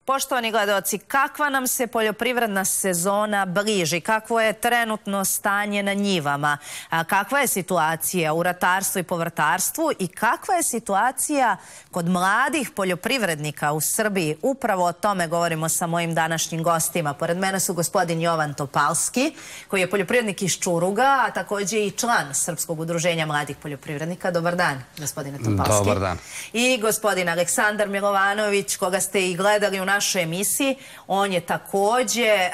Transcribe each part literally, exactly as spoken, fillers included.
Poštovani gledaoci, kakva nam se poljoprivredna sezona bliži? Kakvo je trenutno stanje na njivama? Kakva je situacija u ratarstvu i povrtarstvu? I kakva je situacija kod mladih poljoprivrednika u Srbiji? Upravo o tome govorimo sa mojim današnjim gostima. Pored mene su gospodin Jovan Topalski, koji je poljoprivrednik iz Čuruga, a također i član Srpskog udruženja mladih poljoprivrednika. Dobar dan, gospodine Topalski. Dobar dan. I gospodin Aleksandar Milovanović, koga ste i gledali u našoj emisiji. On je također,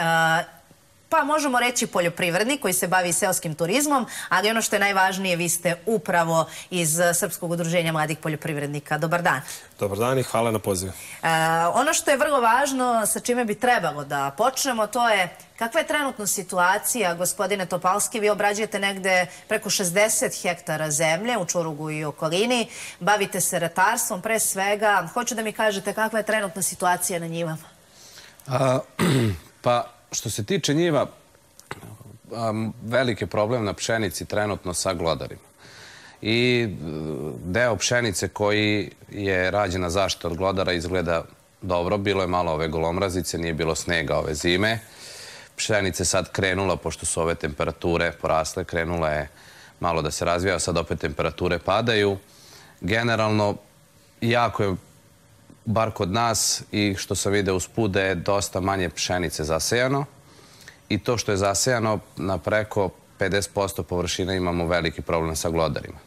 pa možemo reći poljoprivrednik koji se bavi seoskim turizmom, ali ono što je najvažnije, vi ste upravo iz Srpskog udruženja mladih poljoprivrednika. Dobar dan. Dobar dan i hvala na pozivu. Ono što je vrlo važno, sa čime bi trebalo da počnemo, to je kakva je trenutno situacija, gospodine Topalski. Vi obrađujete negde preko šezdeset hektara zemlje u Čurugu i okolini, bavite se ratarstvom pre svega. Hoću da mi kažete kakva je trenutno situacija na njivama. Pa, što se tiče njiva, veliki problem na pšenici trenutno sa glodarima. I deo pšenice koji je rađena zaštita od glodara izgleda dobro. Bilo je malo ove golomrazice, nije bilo snega ove zime. Pšenica je sad krenula, pošto su ove temperature porasle, krenula je malo da se razvija, sad opet temperature padaju. Generalno, jako je, bar kod nas, i što sam vidio usput, da je dosta manje pšenice zasejano. I to što je zasejano, na preko pedeset posto površina imamo veliki problem sa glodarima.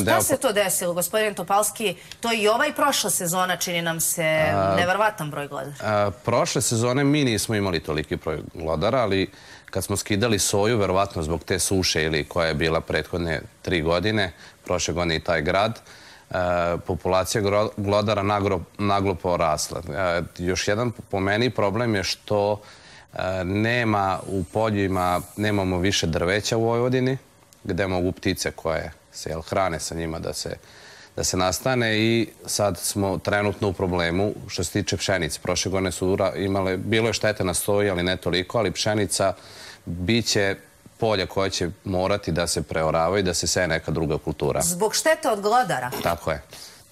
Šta se to desilo, gospodin Topalski? To i ova i prošla sezona čini nam se neverovatan broj glodara. Prošle sezone mi nismo imali toliki broj glodara, ali kad smo skidali soju, verovatno zbog te suše ili koja je bila prethodne tri godine, prošle godine i taj grad, populacija glodara naglo porasla. Još jedan po meni problem je što nema u poljima, nemamo više drveća u Vojvodini, gde mogu ptice koje se hrane sa njima da se nastane, i sad smo trenutno u problemu što se tiče pšenice. Prošle godine su imale, bilo je štete na soji, ali ne toliko, ali pšenica biće polja koja će morati da se preoravaju i da se seje neka druga kultura. Zbog štete od glodara? Tako je.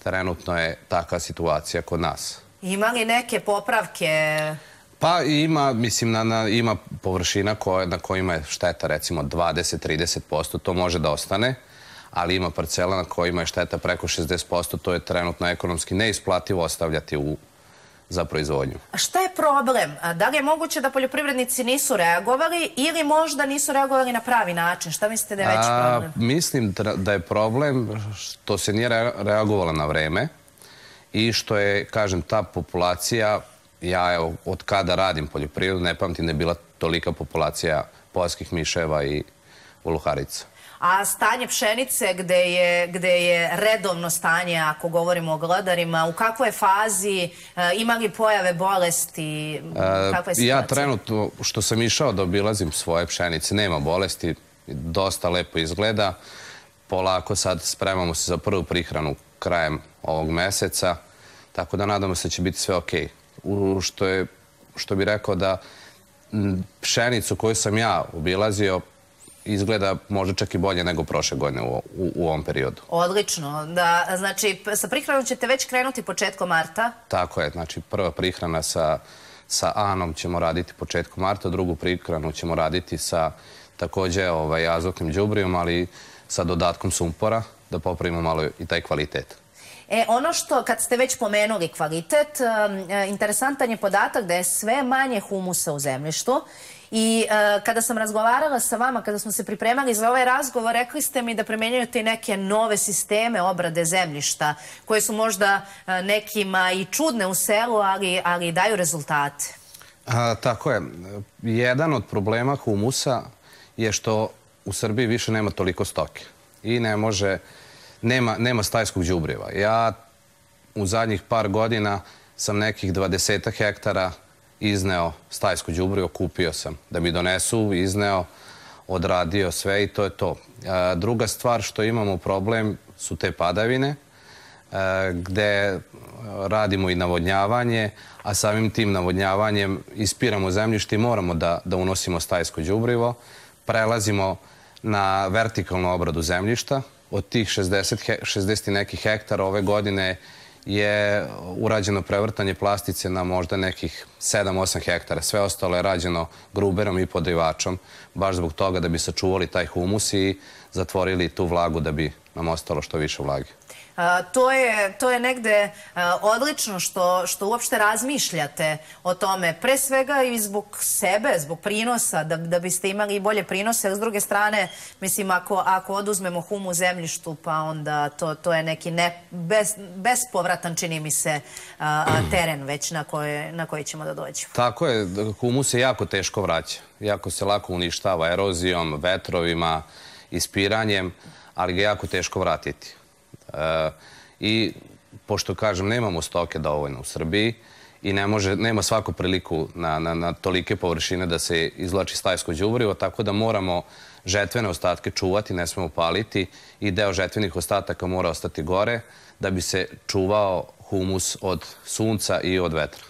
Trenutno je takva situacija kod nas. Ima li neke popravke? Pa ima, mislim, ima površina na kojima je šteta recimo dvadeset do trideset posto, to može da ostane, ali ima parcela na kojima je šteta preko šezdeset posto, to je trenutno ekonomski neisplativo ostavljati za proizvodnju. A šta je problem? Da li je moguće da poljoprivrednici nisu reagovali ili možda nisu reagovali na pravi način? Šta mislite da je veći problem? Mislim da je problem što se nije reagovala na vreme i što je, kažem, ta populacija, ja evo, od kada radim poljoprivredu, ne pamtim da je bila tolika populacija poljskih miševa i uluharica. A stanje pšenice, gde je redovno stanje, ako govorimo o glodarima, u kakvoj je fazi, ima li pojave bolesti, kakva je situacija? Ja trenutno, što sam išao da obilazim svoje pšenice, nema bolesti, dosta lepo izgleda. Polako sad spremamo se za prvu prihranu krajem ovog meseca, tako da nadamo se da će biti sve okej. Što bih rekao da pšenicu koju sam ja obilazio izgleda možda čak i bolje nego prošle godine u ovom periodu. Odlično. Znači, sa prihranom ćete već krenuti početkom marta? Tako je. Znači, prva prihrana sa Anom ćemo raditi početkom marta, drugu prihranu ćemo raditi sa također azotnim đubrijom, ali sa dodatkom sumpora, da popravimo malo i taj kvalitet. E, ono što, kad ste već pomenuli kvalitet, interesantan je podatak da je sve manje humusa u zemljištu. I kada sam razgovarala sa vama, kada smo se pripremali za ovaj razgovor, rekli ste mi da primenjujete i neke nove sisteme obrade zemljišta, koje su možda nekima i čudne u selu, ali daju rezultate. Tako je. Jedan od problema humusa je što u Srbiji više nema toliko stoke i ne može, nema stajskog đubriva. Ja u zadnjih par godina sam nekih dvadesetak hektara izneo stajsko đubrivo, kupio sam da mi donesu, izneo, odradio sve i to je to. Druga stvar što imamo problem su te padavine, gde radimo i navodnjavanje, a samim tim navodnjavanjem ispiramo zemljište i moramo da unosimo stajsko đubrivo. Prelazimo na vertikalnu obradu zemljišta. Od tih šezdeset nekih hektara ove godine je urađeno prevrtanje plastice na možda nekih sedam osam hektara. Sve ostalo je rađeno gruberom i podrivačom, baš zbog toga da bi sačuvali taj humus i zatvorili tu vlagu da bi nam ostalo što više vlage. To je, to je negde odlično što, što uopšte razmišljate o tome, pre svega i zbog sebe, zbog prinosa, da, da biste imali bolje prinose, jer s druge strane, mislim, ako, ako oduzmemo hum u zemljištu, pa onda to, to je neki ne, bez, bespovratan, čini mi se, teren već na, koje, na koji ćemo da dođemo. Tako je, humus se jako teško vraća, jako se lako uništava erozijom, vetrovima, ispiranjem, ali ga jako teško vratiti. I pošto, kažem, nemamo stoke dovoljno u Srbiji i ne može, nema svaku priliku na, na, na tolike površine da se izvlači stajsko đubrivo, tako da moramo žetvene ostatke čuvati, ne smemo paliti i deo žetvenih ostataka mora ostati gore da bi se čuvao humus od sunca i od vetra.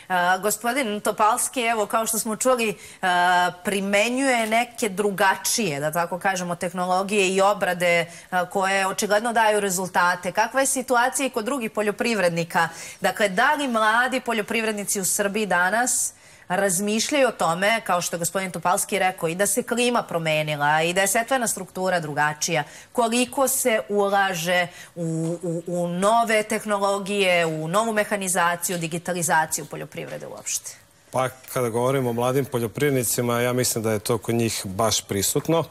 Uh, gospodin Topalski, evo, kao što smo čuli, uh, primenjuje neke drugačije, da tako kažemo, tehnologije i obrade uh, koje očigledno daju rezultate. Kakva je situacija i kod drugih poljoprivrednika? Dakle, da li mladi poljoprivrednici u Srbiji danas razmišljaju o tome, kao što je gospodin Topalski rekao, i da se klima promenila i da je setvena struktura drugačija, koliko se ulaže u, u, u nove tehnologije, u novu mehanizaciju, digitalizaciju poljoprivrede uopšte? Pa kada govorimo o mladim poljoprivrednicima, ja mislim da je to kod njih baš prisutno.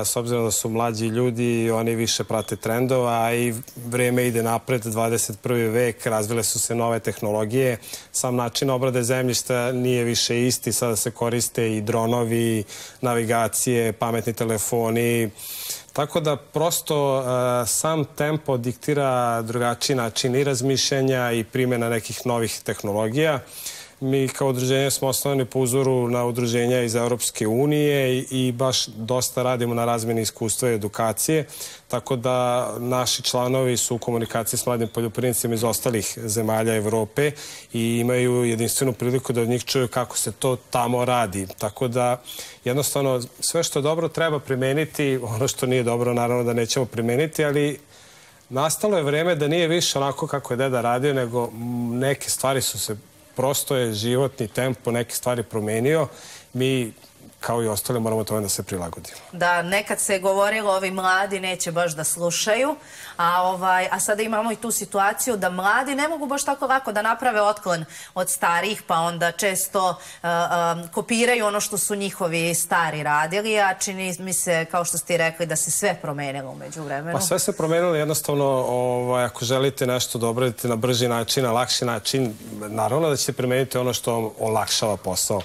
S obzirom da su mlađi ljudi, oni više prate trendova, a i vreme ide napred, dvadeset prvi vek, razvile su se nove tehnologije. Sam način obrade zemljišta nije više isti, sada se koriste i dronovi, navigacije, pametni telefoni. Tako da prosto sam tempo diktira drugačiji način i razmišljanja i primjena nekih novih tehnologija. Mi kao udruženje smo osnovani po uzoru na udruženja iz Europske unije i baš dosta radimo na razmjeni iskustva i edukacije, tako da naši članovi su u komunikaciji s mladim poljoprivrednicima iz ostalih zemalja Evrope i imaju jedinstvenu priliku da od njih čuju kako se to tamo radi. Tako da jednostavno sve što je dobro treba primeniti, ono što nije dobro naravno da nećemo primeniti, ali nastalo je vreme da nije više onako kako je deda radio, nego neke stvari su se prosto je životni tempo neke stvari promenio. Mi, kao i ostali, moramo tome da se prilagodimo. Da, nekad se govorilo ovi mladi neće baš da slušaju, a, ovaj, a sada imamo i tu situaciju da mladi ne mogu baš tako lako da naprave otklon od starih, pa onda često uh, um, kopiraju ono što su njihovi stari radili, a čini mi se, kao što ste rekli, da se sve promenilo umeđu vremenu. Pa sve se promenilo jednostavno, ovaj, ako želite nešto da obradite na brži način, na lakši način, naravno da ćete primeniti ono što vam olakšava posao.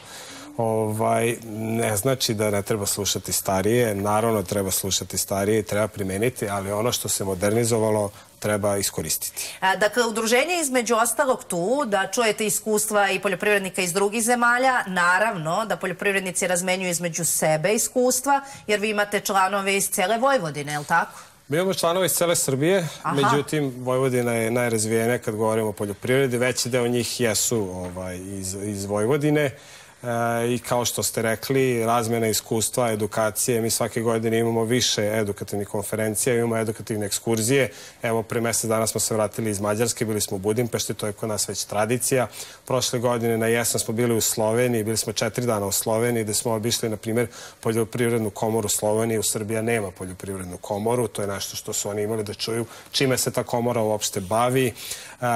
Ovaj, ne znači da ne treba slušati starije, naravno treba slušati starije i treba primeniti, ali ono što se modernizovalo treba iskoristiti. A, dakle, udruženje između ostalog tu, da čujete iskustva i poljoprivrednika iz drugih zemalja, naravno da poljoprivrednici razmenjuju između sebe iskustva, jer vi imate članove iz cele Vojvodine, je li tako? Mi imamo članove iz cele Srbije, aha, međutim, Vojvodina je najrazvijenija kad govorimo o poljoprivredi, veći deo njih jesu ovaj, iz, iz Vojvodine. I kao što ste rekli, razmjena iskustva, edukacije. Mi svake godine imamo više edukativnih konferencija, imamo edukativne ekskurzije. Evo, pre mesec dana smo se vratili iz Mađarske, bili smo u Budimpešti, to je kod nas već tradicija. Prošle godine na jesen smo bili u Sloveniji, bili smo četiri dana u Sloveniji, gde smo obišli, na primjer, poljoprivrednu komoru Slovenije. U Srbiji nema poljoprivrednu komoru, to je nešto što su oni imali da čuju, čime se ta komora uopšte bavi,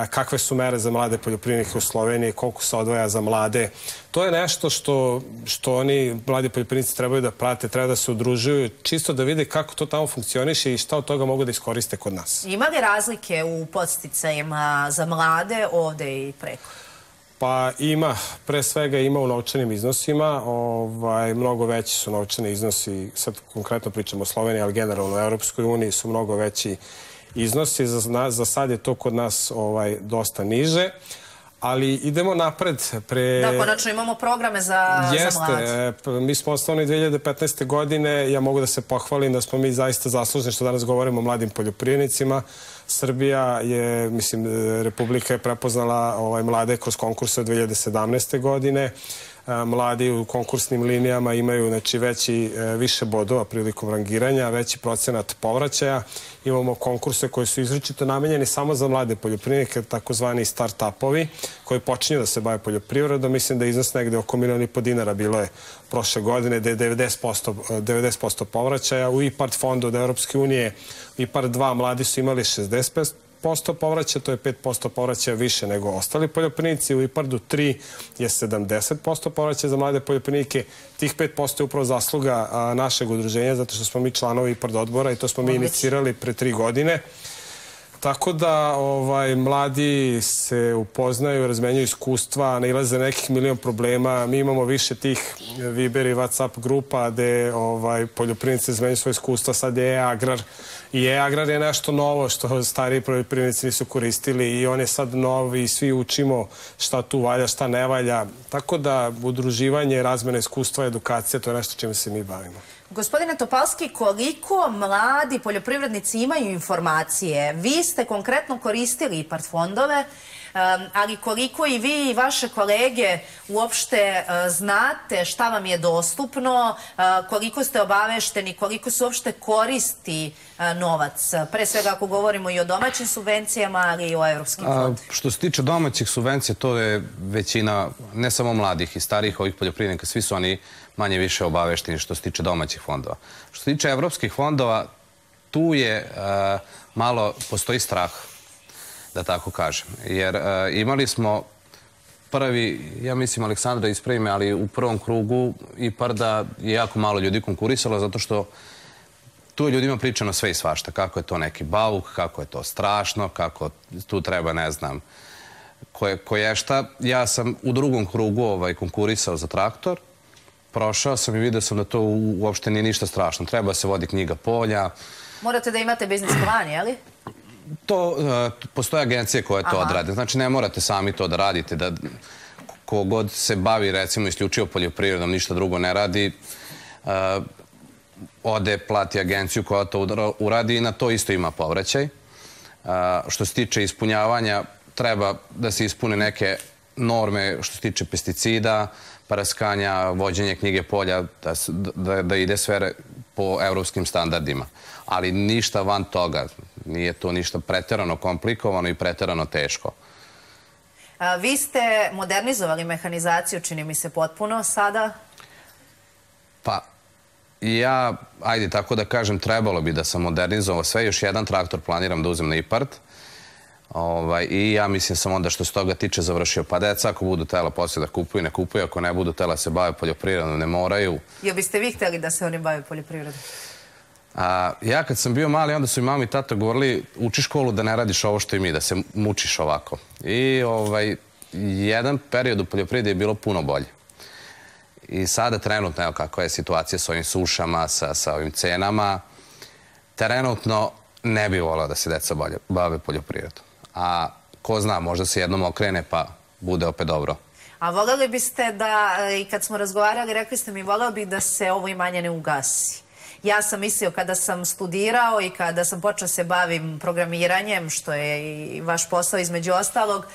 kakve su mere za mlade poljoprivrednike u Sloveniji, koliko se odvaja za mlade. To je nešto što, što oni, mladi poljoprivrednici, trebaju da prate, treba da se udružuju, čisto da vide kako to tamo funkcioniše i šta od toga mogu da iskoriste kod nas. Ima li razlike u podsticajima za mlade ovde i preko? Pa ima, pre svega ima u novčanim iznosima, ovaj, mnogo veći su novčani iznosi, sad konkretno pričamo o Sloveniji, ali generalno u Europskoj uniji su mnogo veći iznosi, za, za sad je to kod nas ovaj, dosta niže. Ali idemo napred. Pre... Da, konačno imamo programe za, Jeste, za mlade. Jeste. Mi smo osnovni dve hiljade petnaeste. godine. Ja mogu da se pohvalim da smo mi zaista zaslužni što danas govorimo o mladim poljoprivrednicima. Srbija je, mislim, Republika je prepoznala ovaj, mlade kroz konkurse od dve hiljade sedamnaeste. godine. mladi u konkursnim linijama imaju znači, veći, više bodova prilikom rangiranja, veći procenat povraćaja. Imamo konkurse koji su izričito namenjeni samo za mlade poljoprivrednike, takozvani start-upovi, koji počinju da se bave poljoprivredom. Mislim da je iznos negde oko milion i po dinara bilo je prošle godine, da je devedeset posto povraćaja. U IPARD fondu od Evropske unije, IPARD dva mladi su imali šezdeset posto povraćaja, to je pet posto povraćaja više nego ostali poljoprivrednici. U IPARD-u tri je sedamdeset posto povraćaja za mlade poljoprivrednike. Tih pet posto je upravo zasluga našeg udruženja, zato što smo mi članovi IPARD odbora i to smo mi inicirali pre tri godine. Tako da ovaj, mladi se upoznaju, razmenjuju iskustva, nailaze nekih milion problema. Mi imamo više tih Viber i WhatsApp grupa gde ovaj, poljoprivrednici razmenjuju svoje iskustva. Sad je e-agrar i e-agrar je nešto novo što stariji poljoprivrednici nisu koristili i on je sad novi i svi učimo šta tu valja, šta ne valja. Tako da udruživanje, razmena iskustva, edukacija, to je nešto čime se mi bavimo. Gospodine Topalski, koliko mladi poljoprivrednici imaju informacije? Vi ste konkretno koristili IPARD fondove, ali koliko i vi i vaše kolege uopšte znate šta vam je dostupno, koliko ste obavešteni, koliko se uopšte koristi novac? Pre svega ako govorimo i o domaćim subvencijama, ali i o evropskim fondovima. Što se tiče domaćih subvencija, to je većina, ne samo mladih i starijih ovih poljoprivrednika, svi su oni manje više obavešteni što se tiče domaćih fondova. Što se tiče evropskih fondova, tu je malo, postoji strah, da tako kažem. Jer imali smo prvi, ja mislim Aleksandra ispravi me, ali u prvom krugu IPARD-a je jako malo ljudi konkurisalo, zato što tu je ljudima pričano sve i svašta. Kako je to neki bauk, kako je to strašno, kako tu treba, ne znam, koje šta. Ja sam u drugom krugu konkurisao za traktor, prošao sam i vidio sam da to uopšte nije ništa strašno. Treba se vodi knjiga polja. Morate da imate biznis plan, je li? To, postoje agencije koje to odrade. Znači, ne morate sami to da radite. Da kogod se bavi, recimo, isključivo poljoprivredom, ništa drugo ne radi, ode, plati agenciju koja to uradi i na to isto ima povraćaj. Što se tiče ispunjavanja, treba da se ispune neke norme što se tiče pesticida, praskanja, vođenje knjige polja, da ide sve po evropskim standardima. Ali ništa van toga. Nije to ništa preterano komplikovano i preterano teško. Vi ste modernizovali mehanizaciju, čini mi se, potpuno sada? Pa, ja, ajde tako da kažem, trebalo bi da sam modernizovao sve. Još jedan traktor planiram da uzem na IPARD. I ja mislim sam onda što se toga tiče završio. Pa deca ako budu tela poslije da kupuju, ne kupuju. Ako ne budu tela se bave poljoprivredom, ne moraju. Jel biste vi htjeli da se oni bave poljoprivredom? Ja kad sam bio mali, onda su i mama i tata govorili uči školu da ne radiš ovo što i mi, da se mučiš ovako. I jedan period u poljoprivredi je bilo puno bolje. I sada trenutno, evo kakva je situacija s ovim sušama, sa ovim cenama, trenutno ne bi voleo da se deca bave poljoprivredom. A ko zna, možda se jednom okrene pa bude opet dobro. A voljeli biste da, i kad smo razgovarali, rekli ste mi, voleo bih da se ovo imanje ne ugasi. Ja sam mislio kada sam studirao i kada sam počeo se bavim programiranjem, što je i vaš posao između ostalog,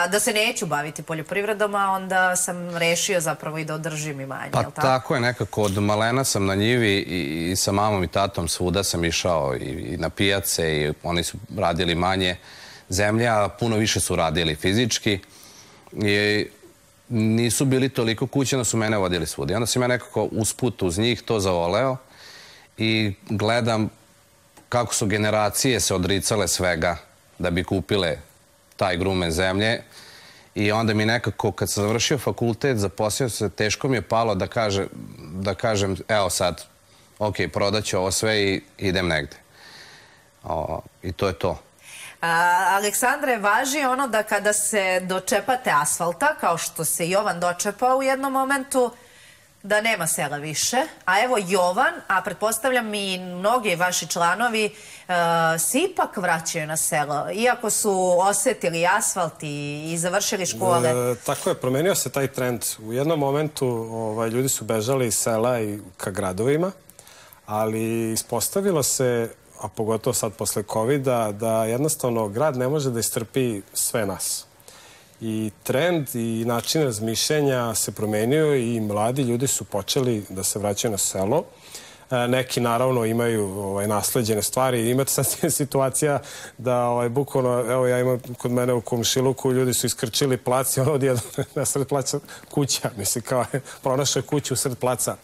da se neću baviti poljoprivredom, a onda sam rešio zapravo i da održim imanje. Pa tako je, nekako od malena sam na njivi i sa mamom i tatom svuda sam išao i na pijace i oni su radili manje zemlje, a puno više su radili fizički i nisu bili toliko kućeno, su mene vodili svuda. I onda sam ja nekako usput uz njih to zavoleo i gledam kako su generacije se odricale svega da bi kupile taj grumen zemlje i onda mi nekako kad sam završio fakultet zaposlio se, teško mi je palo da kažem evo sad, ok, prodaću ovo sve i idem negde. I to je to. Aleksandre, važi ono da kada se dočepate asfalta, kao što se Jovan dočepao u jednom momentu, da nema sela više. A evo Jovan, a pretpostavljam i mnogi vaši članovi, se ipak vraćaju na selo, iako su osetili asfalt i završili škole. Tako je, promenio se taj trend. U jednom momentu ljudi su bežali iz sela i ka gradovima, ali ispostavilo se, a pogotovo sad posle kovida, da jednostavno grad ne može da istrpi sve nas. I trend i način razmišljanja se promenio i mladi ljudi su počeli da se vraćaju na selo. Neki naravno imaju ovaj, nasleđene stvari. Imate sad situacija da ovaj, bukvalno, evo ja imam kod mene u komšiluku, ljudi su iskrčili plac i ono odjedno na sred placa kuća. Mislim, kao je pronašao kuću u sred placa.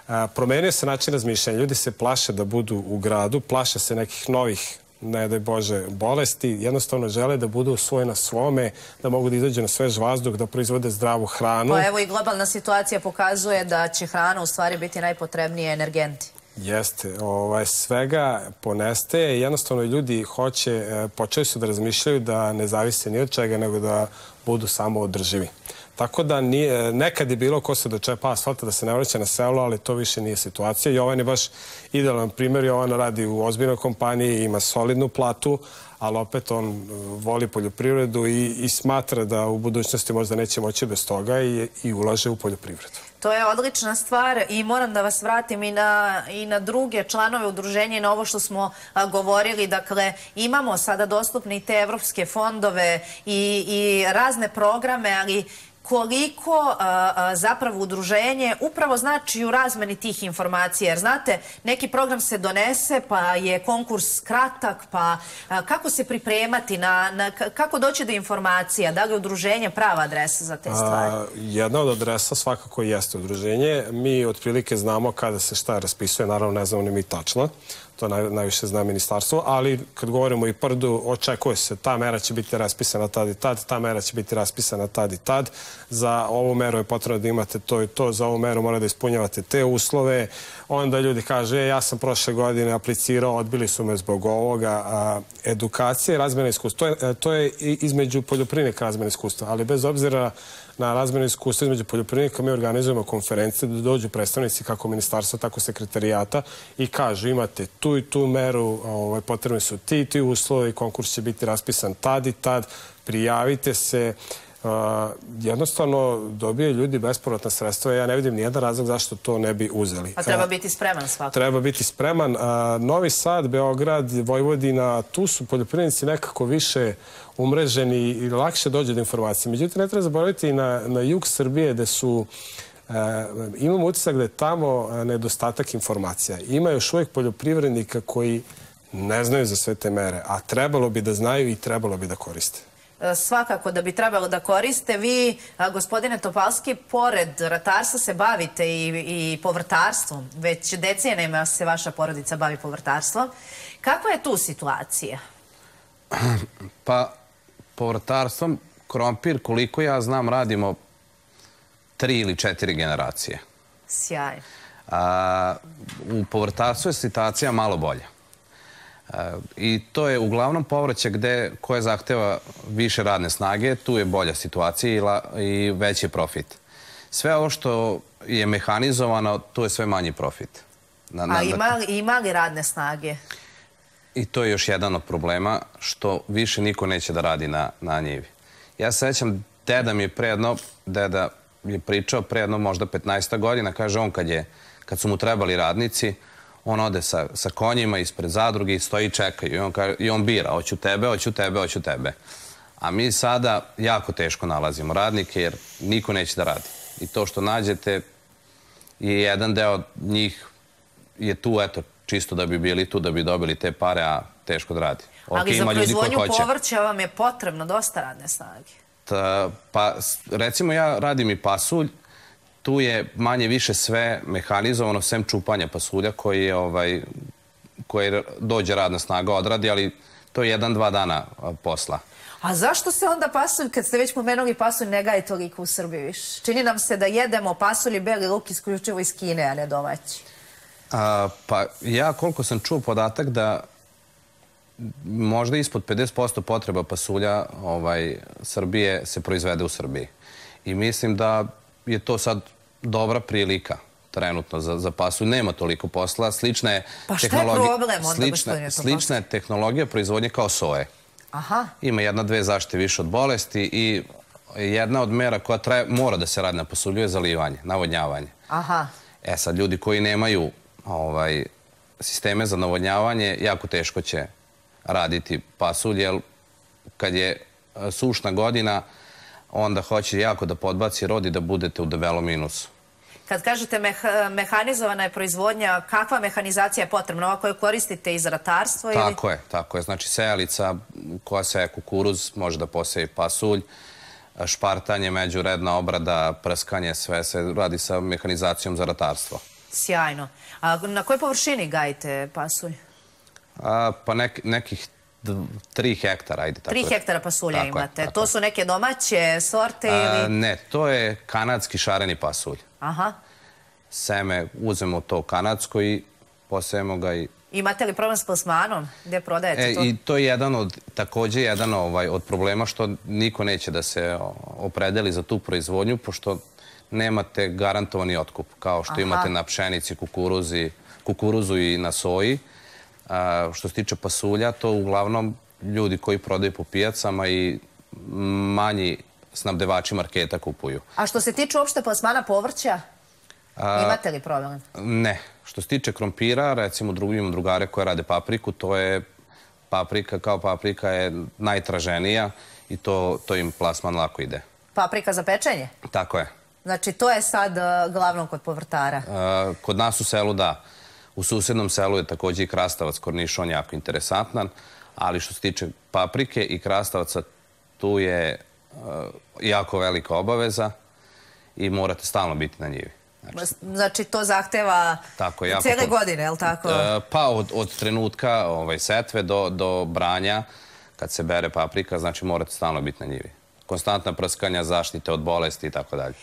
A, promenio se način razmišljanja. Ljudi se plaše da budu u gradu, plaše se nekih novih, ne daj Bože, bolesti. Jednostavno žele da budu svoje na svome, da mogu da izađu na svež vazduh, da proizvode zdravu hranu. Pa evo i globalna situacija pokazuje da će hrana u stvari biti najpotrebnije energenti. Jeste. Ovaj, svega ponestaje. Jednostavno ljudi hoće, počeli su da razmišljaju da ne zavise ni od čega, nego da budu samo održivi. Tako da nije, nekad je bilo ko se dočepa asfalta da se ne vraća na selo, ali to više nije situacija. Jovan je baš idealan primjer. Jovan radi u ozbiljnoj kompaniji, ima solidnu platu, ali opet on voli poljoprivredu i, i smatra da u budućnosti možda neće moći bez toga i, i ulaže u poljoprivredu. To je odlična stvar i moram da vas vratim i na, i na druge članove udruženja i na ovo što smo a, govorili. Dakle, imamo sada dostupne i te evropske fondove i, i razne programe, ali koliko a, a, zapravo udruženje upravo znači u razmeni tih informacija. Jer znate, neki program se donese, pa je konkurs kratak, pa a, kako se pripremati, na, na, kako doći do informacija? Da li je udruženje prava adresa za te stvari? A, jedna od adresa svakako jeste udruženje. Mi otprilike znamo kada se šta raspisuje, naravno ne znamo ni mi tačno. To naj, najviše zna ministarstvo, ali kad govorimo i Prdu, očekuje se, ta mera će biti raspisana tad i tad, ta mera će biti raspisana tad i tad. Za ovu meru je potrebno da imate to i to, za ovu meru mora da ispunjavate te uslove. Onda ljudi kaže, e, ja sam prošle godine aplicirao, odbili su me zbog ovoga. A, edukacija i razmjena iskustva, to je, to je između poljoprivrednika razmjena iskustva, ali bez obzira na razmjenu iskustva između poljoprivrednika mi organizujemo konferencije da dođu predstavnici kako ministarstva, tako sekretarijata i kažu imate tu i tu meru, ovaj, potrebni su ti i ti uslovi, konkurs će biti raspisan tad i tad, prijavite se. Uh, jednostavno dobije ljudi bespovratna sredstva. Ja ne vidim nijedan razlog zašto to ne bi uzeli. A treba biti spreman svakako. Treba biti spreman. Uh, Novi Sad, Beograd, Vojvodina, tu su poljoprivrednici nekako više umreženi i lakše dođe do informacije. Međutim, ne treba zaboraviti i na, na jug Srbije gde su Uh, imamo utisak da je tamo nedostatak informacija. Ima još uvijek poljoprivrednika koji ne znaju za sve te mere, a trebalo bi da znaju i trebalo bi da koriste. Svakako da bi trebalo da koriste. Vi, gospodine Topalski, pored ratarstva se bavite i, i povrtarstvom. Već decenijama se vaša porodica bavi povrtarstvom. Kakva je tu situacija? Pa, povrtarstvom, krompir, koliko ja znam, radimo tri ili četiri generacije. Sjajno. A, u povrtarstvu je situacija malo bolja. A, I to je uglavnom povrće gde, koje zahteva više radne snage, tu je bolja situacija i, la, i veći profit. Sve ovo što je mehanizovano, tu je sve manji profit. Na, na, A ima li, ima li radne snage? I to je još jedan od problema, što više niko neće da radi na, na njivi. Ja se sećam, deda mi je predno, deda je pričao pre jedno možda petnaest godina, kaže on kad, je, kad su mu trebali radnici, on ode sa, sa konjima ispred zadruge i stoji i čekaju. I on, kaže, i on bira, hoću tebe, hoću tebe, hoću tebe. A mi sada jako teško nalazimo radnike jer niko neće da radi. I to što nađete je jedan deo njih je tu, eto, čisto da bi bili tu, da bi dobili te pare, a teško da radi. Ali okay, za proizvodnju povrća vam je potrebno dosta radne snage. Pa recimo ja radim i pasulj, tu je manje više sve mehanizovano, sem čupanja pasulja koji je ovaj, koji dođe radna snaga odradi, ali to je jedan, dva dana posla. A zašto se onda pasulj, kad ste već pomenuli pasulj, ne gaje toliko u Srbiji više? Čini nam se da jedemo pasulj i beli luk isključivo iz Kine, a ne domaći. A, pa ja koliko sam čuo podatak da možda ispod pedeset posto potreba pasulja ovaj, Srbije se proizvede u Srbiji. I mislim da je to sad dobra prilika trenutno za, za pasulj. Nema toliko posla. Slična je pa šta je problem onda, slična, slična je tehnologija proizvodnje kao soje. Aha. Ima jedna, dve zaštite više od bolesti i jedna od mera koja traje, mora da se radi na pasulju je zalivanje, navodnjavanje. Aha. E sad, ljudi koji nemaju ovaj, sisteme za navodnjavanje, jako teško će raditi pasulj, jer kad je sušna godina, onda hoće jako da podbaci rod i da budete u debelom minusu. Kad kažete mehanizovana je proizvodnja, kakva mehanizacija je potrebna? Ova koju koristite iz ratarstva? Tako je, tako je. Znači sejalica koja seje kukuruz može da poseje pasulj, špartanje, međuredna obrada, prskanje, sve se radi sa mehanizacijom za ratarstvo. Sjajno. A na kojoj površini gajite pasulj? Pa nekih tri hektara, ajde tako. Tri hektara pasulja imate. To su neke domaće sorte ili... Ne, to je kanadski šareni pasulj. Aha. Seme, uzmemo to kanadsko i posejemo ga i... Imate li problem s plasmanom? Gde prodajete to? I to je jedan od, također jedan od problema što niko neće da se opredeli za tu proizvodnju, pošto nemate garantovani otkup, kao što imate na pšenici, kukuruzu i na soji. Što se tiče pasulja, to uglavnom ljudi koji prodaju po pijacama i manji snabdevači marketa kupuju. A što se tiče uopšte plasmana povrća, imate li problem? Ne. Što se tiče krompira, recimo imam drugare koje rade papriku, to je paprika kao paprika je najtraženija i to im plasman lako ide. Paprika za pečenje? Tako je. Znači to je sad glavno kod povrtara? Kod nas u selu da. U susednom selu je također i krastavac kornišon jako interesantan, ali što se tiče paprike i krastavaca, tu je jako velika obaveza i morate stalno biti na njivi. Znači to zahteva cijele godine, je li tako? Pa od trenutka setve do branja, kad se bere paprika, znači morate stalno biti na njivi. Konstantna prskanja, zaštite od bolesti i tako dalje.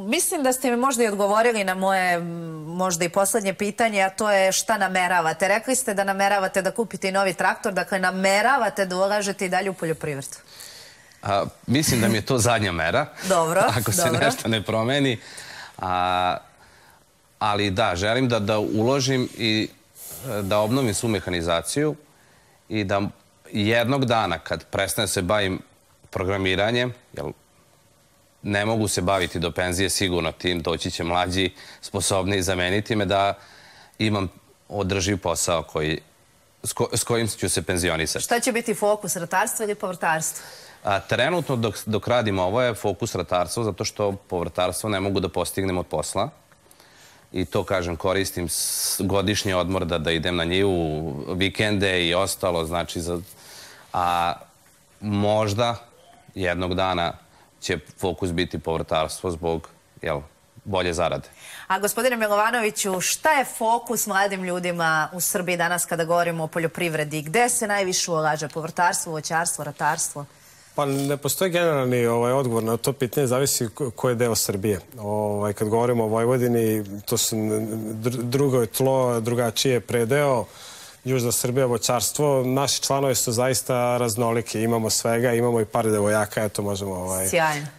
Mislim da ste mi možda i odgovorili na moje možda i poslednje pitanje, a to je šta nameravate. Rekli ste da nameravate da kupite i novi traktor, dakle nameravate da ulažete i dalje u poljoprivredu. Mislim da mi je to zadnja mera. Dobro, ako se nešto ne promeni. Ali da, želim da uložim i da obnovim svu mehanizaciju i da jednog dana kad prestane se bavim programiranjem, jer ne mogu se baviti do penzije sigurno tim, doći će mlađi, sposobni zameniti me da imam održiv posao s kojim ću se penzionisati. Šta će biti fokus, ratarstvo ili povrtarstvo? Trenutno dok radim ovo je fokus ratarstvo, zato što povrtarstvo ne mogu da postignem od posla. I to, kažem, koristim godišnji odmor da idem na njivu, vikende i ostalo, znači, a možda jednog dana će fokus biti povrtarstvo zbog bolje zarade. A gospodine Milovanoviću, šta je fokus mladim ljudima u Srbiji danas kada govorimo o poljoprivredi? Gde se najviše ulaže? Povrtarstvo, voćarstvo, ratarstvo? Pa ne postoji generalni odgovor na to pitanje, zavisi koji je deo Srbije. Kad govorimo o Vojvodini, to su drugo je tlo, drugačije predeo, Južna Srbija, voćarstvo. Naši članovi su zaista raznoliki, imamo svega, imamo i par devojaka, eto možemo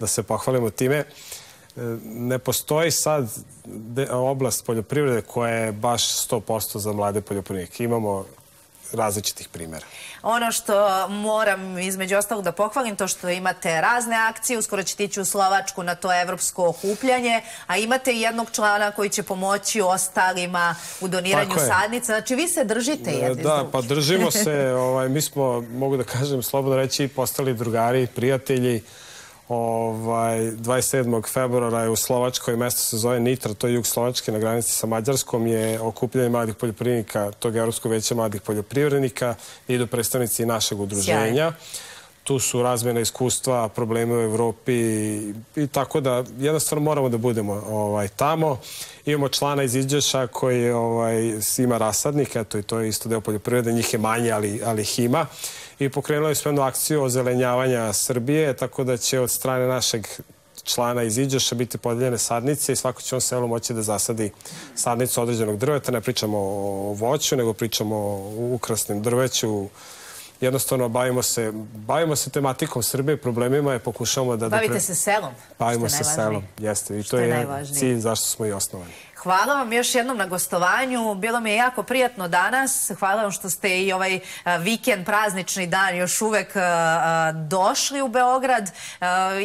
da se pohvalimo time. Ne postoji sad oblast poljoprivrede koja je baš sto posto za mlade poljoprivrednike. Imamo različitih primjera. Ono što moram između ostalog da pohvalim, to što imate razne akcije, uskoro ćete ići u Slovačku na to evropsko okupljanje, a imate i jednog člana koji će pomoći ostalima u doniranju sadnica. Znači vi se držite jedni s drugim. Da, pa držimo se. Mi smo, mogu da kažem, slobodno reći, postali drugari, prijatelji. dvadeset sedmog februara je u Slovačkoj, mesto se zove Nitra, to je jug Slovačke na granici sa Mađarskom, je okupljanje mladih poljoprivrednika, tog Evropskog veća mladih poljoprivrednika, idu predstavnici našeg udruženja. Tu su razmjena iskustva, probleme u Evropi i tako da jednostavno moramo da budemo tamo. Imamo člana iz Iđoša koji ima rasadnik, eto i to je isto deo poljoprivrede, njih je manje, ali ih ima. I pokrenuli smo jednu akciju ozelenjavanja Srbije, tako da će od strane našeg člana iz Iđoša biti podeljene sadnice i svako će on selu moći da zasadi sadnicu određenog drveta. Ne pričamo o voću, nego pričamo o ukrasnim drveću. Jednostavno, bavimo se tematikom Srbije, problemima je pokušamo da... Bavite se selom. Bavimo se selom, jeste. I to je cilj zašto smo i osnovani. Hvala vam još jednom na gostovanju. Bilo mi je jako prijatno danas. Hvala vam što ste i ovaj vikend, praznični dan još uvek došli u Beograd.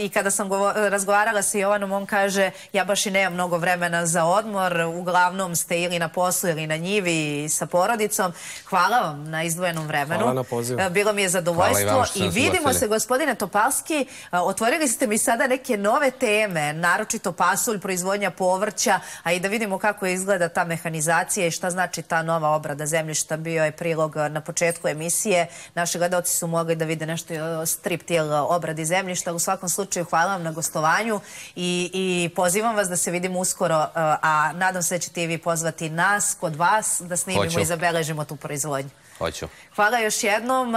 I kada sam razgovarala sa Jovanom, on kaže ja baš i nemam mnogo vremena za odmor. Uglavnom ste ili na poslu ili na njivi sa porodicom. Hvala vam na izdvojenom vremenu. Hvala na pozivu. Bilo mi je zadovoljstvo. I vidimo se, gospodine Topalski. Otvorili ste mi sada neke nove teme, naročito pasulj, proizvodnja povrća, a i da vidimo kako izgleda ta mehanizacija i šta znači ta nova obrada zemljišta. Bio je prilog na početku emisije. Naši gledalci su mogli da vide nešto o striptil obradi zemljišta. U svakom slučaju hvala vam na gostovanju i, i pozivam vas da se vidimo uskoro, a nadam se da ćete i vi pozvati nas kod vas da snimimo Hoću. i zabeležimo tu proizvodnju. Hoću. Hvala još jednom.